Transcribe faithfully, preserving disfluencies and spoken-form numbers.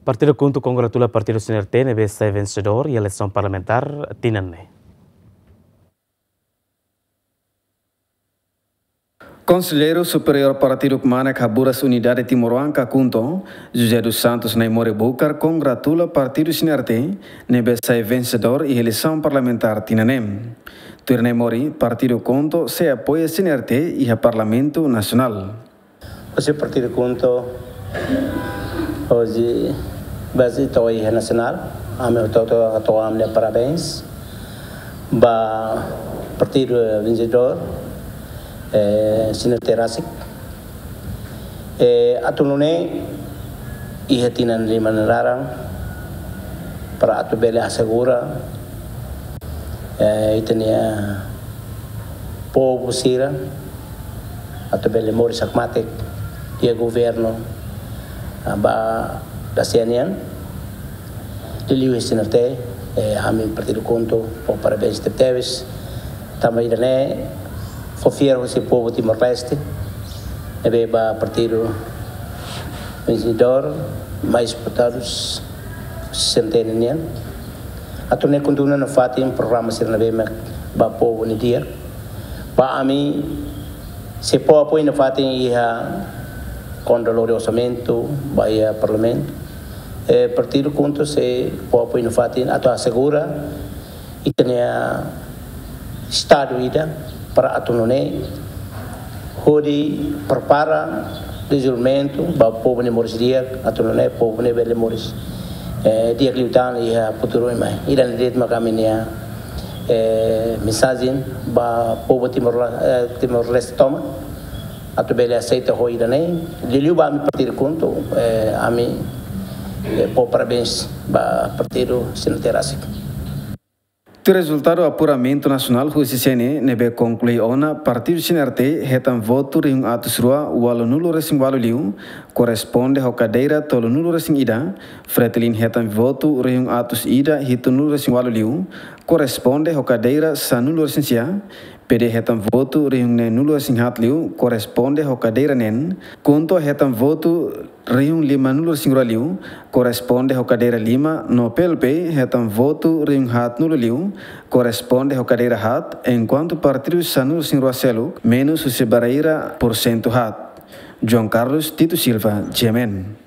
Partidu KHUNTO kongratula partidu CNRT ne'ebé sai vensedór iha eleisaun parlamentár tinan ne'e. Konselleiru Superiór Partidu Kmanek Haburas Unidade Timoroan ka KHUNTO, José dos Santos Naimori Bucar kongratula partidu CNRT ne'ebé sai vensedór iha eleisaun parlamentár tinan ne'e. Tuir Naimori, partidu KHUNTO sei apoia CNRT iha Parlamentu Nasionál. Husi partidu KHUNTO, hoje, baze to'o iha nasionál, ami hotu-hotu hato'o ami-nia parabéns ba partidu vensedór, eh, CNRT rasik. Eh, atu nune'e iha tinan lima nia laran, para atu bele asegura, eh, ita-nia povu sira atu bele moris hakmatek iha governu, ah, ba dasia nian. Liuliu husi CNRT, eh, ami partidu KHUNTO fó parabéns tebetebes. Tanba ida-ne'e fó fiar husi povu Timor-Leste ne'ebé ba partidu vensedór, mais votadus, CNRT nian. Atu nune'e kontinua nafatin programa sira ne'ebé mak ba povu nia di'ak. Ba ami, sei fó apoiu nafatin iha kuandu lori orsamentu ba iha parlamentu. Eh, partidu KHUNTO sei fó apoiu nafatin atu asegura ita-nia estadu ida para atu nune'e hodi prepara dezenvolvimentu ba povu nia moris di'ak, atu nune'e povu ne'e bele moris, eh, di'ak liután iha futuru ida mai. Ida-ne'e de'it mak ami-nia, eh, mensajen ba povu Timor, eh, Timor-Leste tomak, atu bele aseita ho ida-ne'e. Liuliu ba ami partidu KHUNTO, eh, ami, eh, fó parabéns ba partidu CNRT rasik. Tuir rezultadu apuramentu nasionál husi CNE ne'ebé konklui ona, partidu CNRT hetan votu rihun atus rua ualunulu-resin-ualu liu, korresponde ho kadeira tolunulu-resin-ida, FRETILIN hetan votu rihun atus ida hitunulu-resin-ualu liu, korresponde ho kadeira sanulu-resin-sia, PD hetan votu rihun neenulu-resin-haat liu, korresponde ho kadeira neen, KHUNTO hetan votu rihun limanulu-resin-rua liu, korresponde ho kadeira lima, no PLP hetan votu rihun haatnulu liu, korresponde ho kadeira haat, enkuantu partidu sanulu-resin-rua seluk, menus husi barreira porsentu haat. João Carlos Tito Silva, GMN.